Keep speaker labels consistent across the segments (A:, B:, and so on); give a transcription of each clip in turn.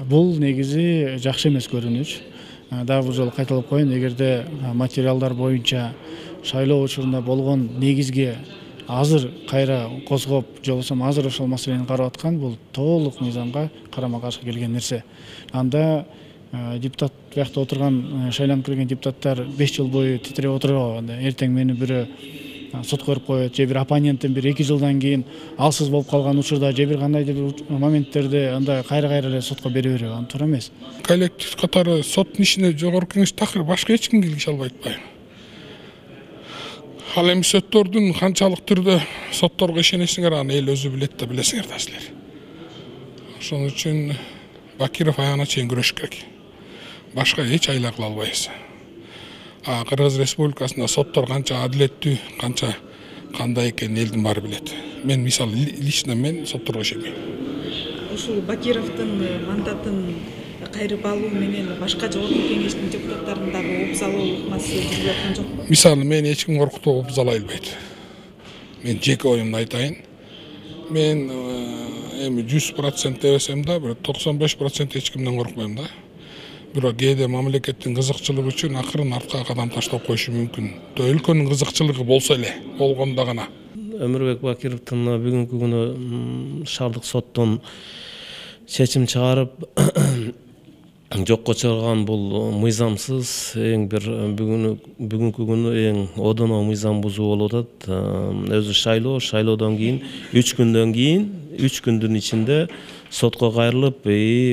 A: Бул негизи жакшы эмес көрүнүш. Дагы бир жолу кайталап коеюн, эгерде материалдар боюнча шайлоо учурунда болгон негизге азыр кайра козгоп, же болбосо азыр ошол маселени карап аткан, бул толук мыйзамга карама каршы келген нерсе. Анда депутат биякта отурган, шайланып келген депутаттар 5 жыл бою титиреп отурбайбы? Анда эртең мени бирөө сотко берип коет, же бир оппонентин бир 2 жылдан кийин алсыз болуп калган учурда, же бир кандайдыр бир моменттерде анда кайра эле сотко бере береби? Аны туура эмес.
B: Коллектив катары соттун ишине жогорку кеңеш такыр башка эч ким киргизе албайт атпайбы? Ал эми сөттөрдүн канчалык түрдө сотторго ишенесиңер, аны эл өзү билет да, билесиңер да силер. Ошон үчүн Бакиров аягына чейин күрөшүш керек. Башка эч айла кыла албайбыз. Кыргыз Республикасында соттор канча адилеттүү, канча кандай экенин элдин баары билет. Мен мисалы лично мен сотторго ишенбейм.
C: Ушул Бакировдун мандатын кайрып алуу менен башка жогорку кеңештин депутаттарындагы обузалуулук ыкмасы жүрүп аткан жокпу?
B: Мисалы мен эч ким коркутуп обузалай албайт. Мен жеке оюмду айтайын. Мен эми 100% дебесем да, бир 95% эч кимден коркпойм да. Бирок кээде мамлекеттин кызыкчылыгы үчүн акырын артка кадам таштап коюшу мүмкүн. Өлкөнүн кызыкчылыгы болсо эле, болгондо гана.
D: Өмүрбек Бакировдун бүгүнкү күнү шаардык соттон чечим чыгарып жокко чыгарган бул мыйзамсыз, эң бир бүгүнкү күнү эң одоно мыйзам бузуу болуп атат. Өзү шайлоодон кийин 3 күндүн ичинде сотко кайрылып,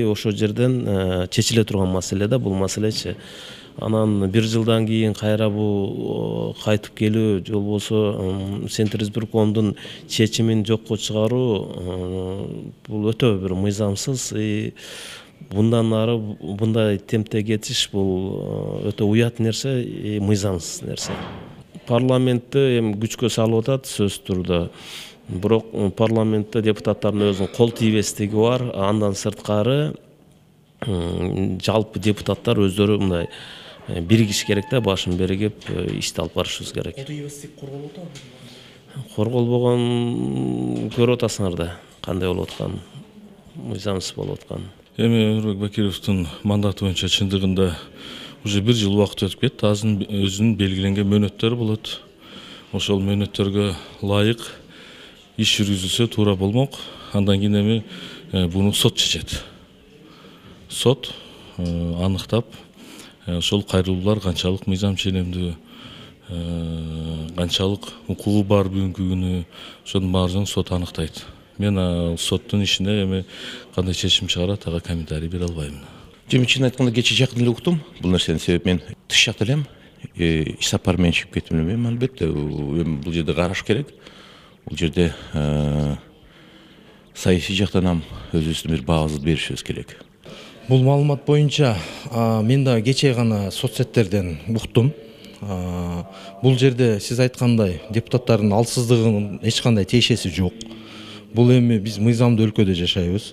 D: ошол жерден чечиле турган маселе да бул маселечи. Анан 1 жылдан кийин кайра бул кайтып келүү, же болбосо Центризбиркомдун чечимин жокко чыгаруу бул өтө бир мыйзамсыз. Bundan ары мындай темпте кетиш бул өтө уят нерсе, мыйзамсыз нерсе. Парламентти эми күчкө салып атат сөзсүз түрдө. Бирок парламентте депутаттардын өзүнүн кол тийбестиги бар. Андан сырткары жалпы депутаттар өздөрү мындай биригиш керек да, башын биригип ишти алып барышыбыз керек.
E: Кол тийбестик корголуп атабы?
D: Корголбогон көрүп атасыңар да, кандай болуп атканын, мыйзамсыз болуп атканын.
F: Эми Өмүрбек Бакировдун мандаты боюнча чындыгында уже 1 жыл убакыт өтүп кетти. Азыр өзүнүн белгиленген мөөнөттөрү болот. Ошол мөөнөттөргө ылайык иш жүргүзүлсө туура болмок. Андан кийин эми буну сот чечет. Сот аныктап, ошол кайрылуулар канчалык мыйзам ченемдүү, канчалык укугу бар бүгүнкү күнү, ошонун баарын сот аныктайт. Мен соттун ишине эми кандай чечим чыгарат, ага комментарий бере албайм.
E: Чын айтканда кече жакын эле уктум бул нерсени, себеп мен тыш жакта элем, иш сапар менен чыгып кеттим эле. Мен албетте бул жерде караш керек. Бул жерде саясий жактан ham өзүбүздүн бир баабызды беришибиз керек.
G: Бул маалымат боюнча мен да кече гана соцсеттерден уктум. Бул жерде сиз айткандай депутаттардын алсыздыгынын эч кандай тиешеси жок. Бул эми биз мыйзамдуу өлкөдө жашайбыз.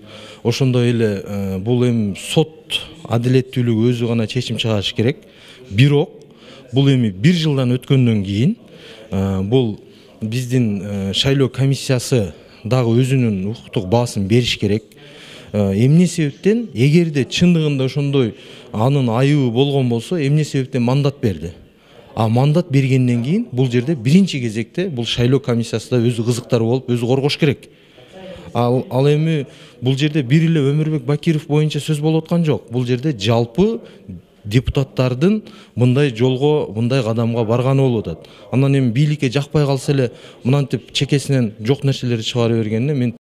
G: Ошондой эле бул эми сот адилеттүүлүгү өзү гана чечим чыгарыш керек. Бирок бул эми 1 жылдан өткөндөн кийин бул биздин шайлоо комиссиясы дагы өзүнүн укуктук баасын бериш керек. Эмне себептен, эгерде чындыгында ошондой анын айыбы болгон болсо, эмне себептен мандат берди? Мандат бергенден кийин бул жерде биринчи кезекте бул шайлоо комиссиясында өзү кызыктар болуп, өзү коргош керек. Ал эми бул жерде бир эле Өмүрбек Бакиров боюнча сөз болуп аткан жок. Бул жерде жалпы депутаттардын мындай жолго, мындай кадамга барганы болуп атат. Андан эми бийликке жакпай калса эле мынантип чекесинен жок нерселерди чыгара бергенине мен